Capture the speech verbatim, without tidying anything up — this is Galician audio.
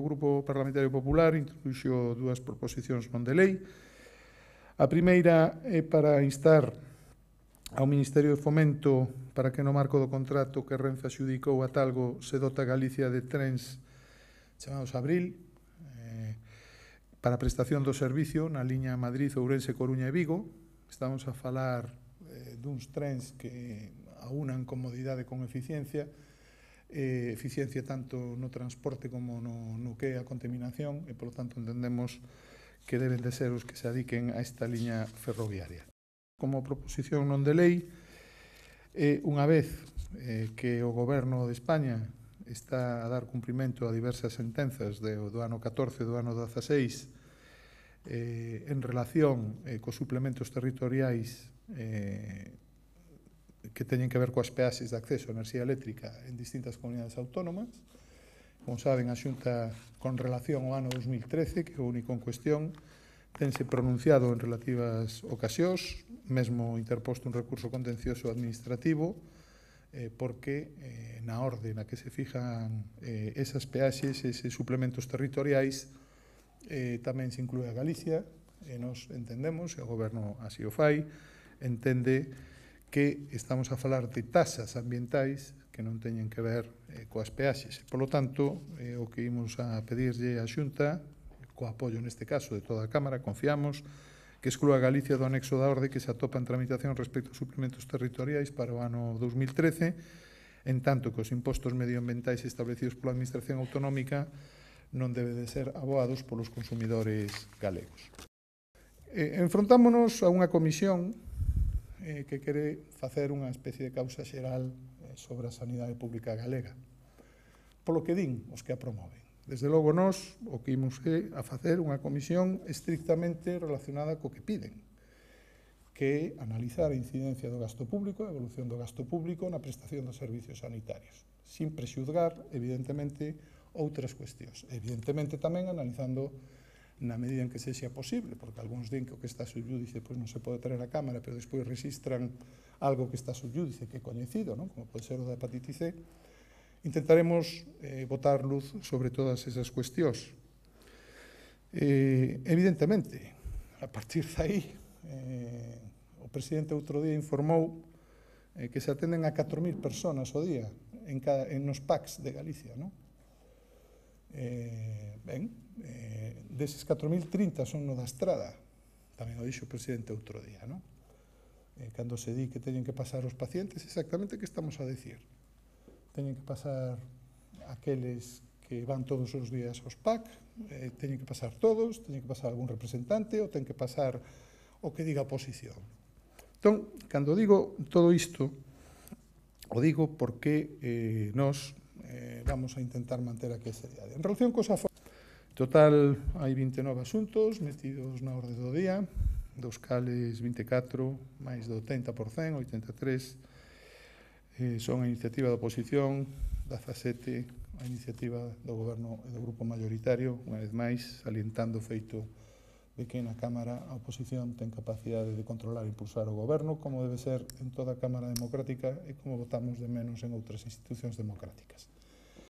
Grupo Parlamentario Popular introduxo dúas proposicións non de lei. A primeira é para instar ao Ministerio de Fomento para que no marco do contrato que Renfe adxudicou a Talgo se dota Galicia de trens chamados Abril eh, para a prestación do servicio na liña Madrid, Ourense, Coruña e Vigo. Estamos a falar eh, duns trens que aunan comodidade con eficiencia, eh, eficiencia tanto no transporte como no, no que é a contaminación, e, polo tanto, entendemos que deben de ser os que se adiquen a esta liña ferroviaria. Como proposición non de lei, eh, unha vez eh, que o Goberno de España está a dar cumprimento a diversas sentenzas de, do ano catorce e do ano dezaseis eh, en relación eh, cos suplementos territoriais eh, que teñen que ver coas peaxes de acceso a enerxía eléctrica en distintas comunidades autónomas. Como saben, a Xunta, con relación ao ano dos mil trece, que é o único en cuestión, tense pronunciado en relativas ocasións, mesmo interposto un recurso contencioso administrativo, eh, porque eh, na orde na que se fijan eh, esas peaxes, eses suplementos territoriais, eh, tamén se inclúe a Galicia, e nos entendemos, e o Goberno así o fai, entende que estamos a falar de tasas ambientais que non teñen que ver eh, coas peaxes. Por lo tanto, eh, o que imos a pedirlle á Xunta, co apoio neste caso de toda a Cámara, confiamos que exclúa a Galicia do anexo da orde que se atopa en tramitación respecto aos suplementos territoriais para o ano dos mil trece, en tanto que os impostos medioambientais establecidos pola Administración Autonómica non deben de ser aboados polos consumidores galegos. Eh, enfrontámonos a unha comisión eh, que quere facer unha especie de causa xeral eh, sobre a sanidade pública galega, polo que din os que a promoven. Desde logo, nós o que imos é a facer unha comisión estrictamente relacionada co que piden, que é analizar a incidencia do gasto público, a evolución do gasto público na prestación dos servicios sanitarios, sin prexuzgar, evidentemente, outras cuestións. Evidentemente, tamén analizando na medida en que sexa posible, porque algúns din que o que está subjúdice pois non se pode traer a Cámara, pero despois registran algo que está subjúdice, que é coñecido, non? Como pode ser o da hepatitis C. Intentaremos eh, botar luz sobre todas esas cuestións. Eh, evidentemente, a partir de aí, eh, o presidente outro día informou eh, que se atenden a catro mil personas ao día en, cada, en nos P A Cs de Galicia, non? Eh, ben, eh, deses catro mil, trinta son no da Estrada, tamén o dixo o presidente outro día, non? Eh, cando se di que teñen que pasar os pacientes, exactamente que estamos a decir? Teñen que pasar aqueles que van todos os días aos P A C, eh, teñen que pasar todos, teñen que pasar algún representante, ou ten que pasar o que diga a oposición. Entón, cando digo todo isto, o digo porque eh, nós eh, vamos a intentar manter aquí a seriedade. En relación cos aforos, total, hai vinte e nove asuntos metidos na orde do día, dos cales vinte e catro, máis do oitenta por cento, oitenta e tres, Eh, son a iniciativa da oposición, dezasete a iniciativa do Goberno e do Grupo Mayoritario, unha vez máis, salientando o feito de que na Cámara a oposición ten capacidade de controlar e impulsar o Goberno, como debe ser en toda a Cámara democrática e como votamos de menos en outras institucións democráticas.